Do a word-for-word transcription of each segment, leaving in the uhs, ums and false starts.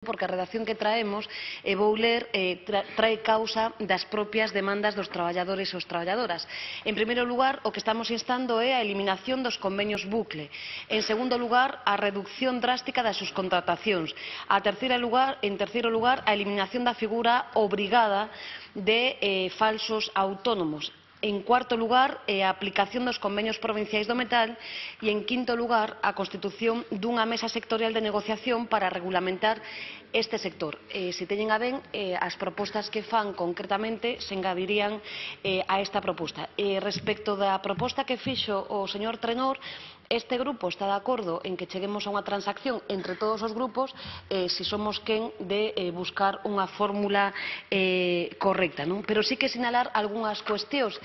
porque a redacción que traemos, e vou ler, eh, tra, trae causa das propias demandas dos traballadores e os traballadoras. En primeiro lugar, o que estamos instando é a eliminación dos convenios bucle. En segundo lugar, a reducción drástica das subcontratacións. A terceira lugar, en terceiro lugar, a eliminación da figura obrigada de eh, falsos autónomos. En cuarto lugar, a aplicación dos convenios provinciais do metal e, en quinto lugar, a constitución dunha mesa sectorial de negociación para regulamentar este sector. Eh, se teñen a ben, eh, as propostas que fan concretamente se engadirían eh, a esta proposta. Eh, respecto da proposta que fixo o señor Trenor, este grupo está de acordo en que cheguemos a unha transacción entre todos os grupos eh, se somos quen de eh, buscar unha fórmula eh, correcta, non? Pero sí que sinalar algunhas cuestións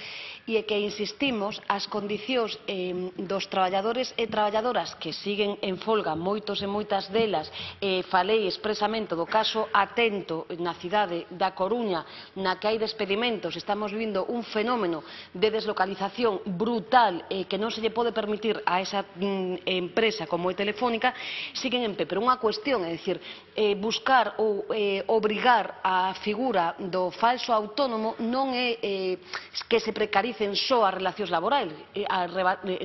e que insistimos as condicións eh, dos traballadores e traballadoras que siguen en folga, moitos e moitas delas, eh, falei expresamente do caso Atento na cidade da Coruña, na que hai despedimentos, estamos vindo un fenómeno de deslocalización brutal eh, que non se lle pode permitir a esa mm, empresa como é Telefónica, siguen en pé. Pero unha cuestión, é dicir, eh, buscar ou eh, obrigar a figura do falso autónomo non é eh, que se precaricen só as relacións laborais, eh, as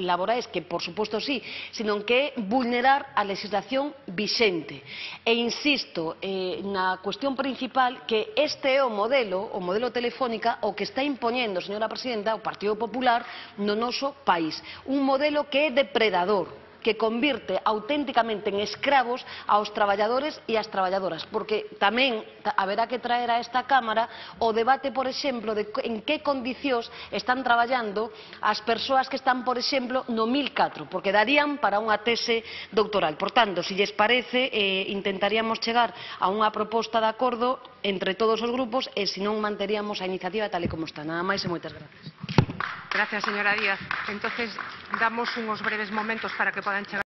laborais que, por suposto, sí, sino que é vulnerar a legislación vixente. E insisto eh, na cuestión principal que este é o modelo, o modelo Telefónica, o que está impoñendo, señora Presidenta, o Partido Popular no noso país. Un modelo que é depredador, que convirte auténticamente en escravos aos traballadores e ás traballadoras, porque tamén haberá que traer a esta Cámara o debate, por exemplo, de en que condicións están traballando as persoas que están, por exemplo, no mil catro, porque darían para unha tese doutoral. Por tanto, se lles parece, eh, intentaríamos chegar a unha proposta de acordo entre todos os grupos e, se non, manteríamos a iniciativa tal e como está. Nada máis e moitas gracias. Gracias, señora Díaz. Entonces, damos unos breves momentos para que puedan chegar.